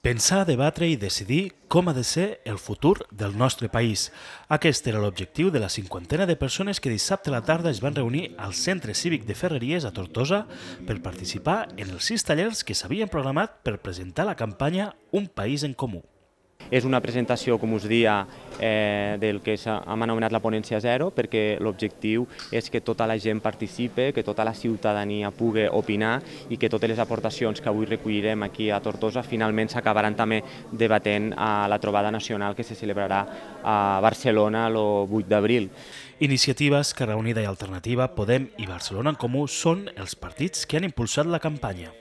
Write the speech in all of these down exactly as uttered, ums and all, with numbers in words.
Pensar, debatre i decidir com ha de ser el futur del nostre país. Aquest era l'objectiu de la cinquantena de persones que dissabte a la tarda es van reunir al Centre Cívic de Ferreries a Tortosa per participar en els sis tallers que s'havien programat per presentar la campanya Un País en Comú. És una presentació, com us dia, eh, del que hem anomenat la ponència zero, perquè l'objectiu és que tota la gent participe, que tota la ciutadania pugui opinar i que totes les aportacions que avui recollirem aquí a Tortosa finalment s'acabaran també debatent a la trobada nacional que se celebrarà a Barcelona el vuit d'abril. Iniciativa, Esquerra Unida i Alternativa, Podem i Barcelona en Comú són els partits que han impulsat la campanya.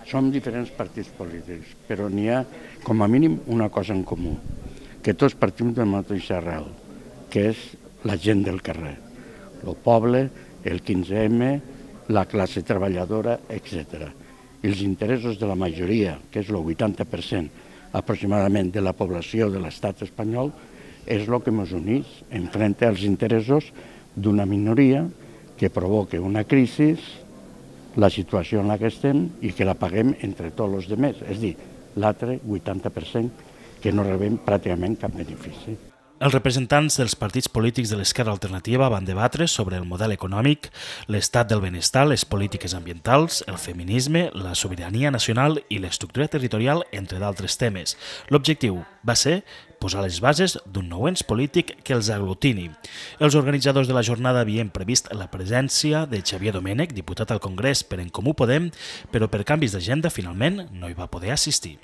Som diferents partits polítics, però n'hi ha com a mínim una cosa en comú, que tots partim de la mateixa arrel, que és la gent del carrer, el poble, el quinze eme, la classe treballadora, etcètera. I els interessos de la majoria, que és el vuitanta per cent aproximadament de la població de l'estat espanyol, és el que ens uneix enfront als interessos d'una minoria que provoca una crisi, la situació en la que estem i que la paguem entre tots els altres, és a dir, l'altre vuitanta per cent que no rebem pràcticament cap benefici. Els representants dels partits polítics de l'Esquerra Alternativa van debatre sobre el model econòmic, l'estat del benestar, les polítiques ambientals, el feminisme, la sobirania nacional i l'estructura territorial, entre d'altres temes. L'objectiu va ser posar les bases d'un nou ens polític que els aglutini. Els organitzadors de la jornada havien previst la presència de Xavier Domènech, diputat al Congrés per En Comú Podem, però per canvis d'agenda finalment no hi va poder assistir.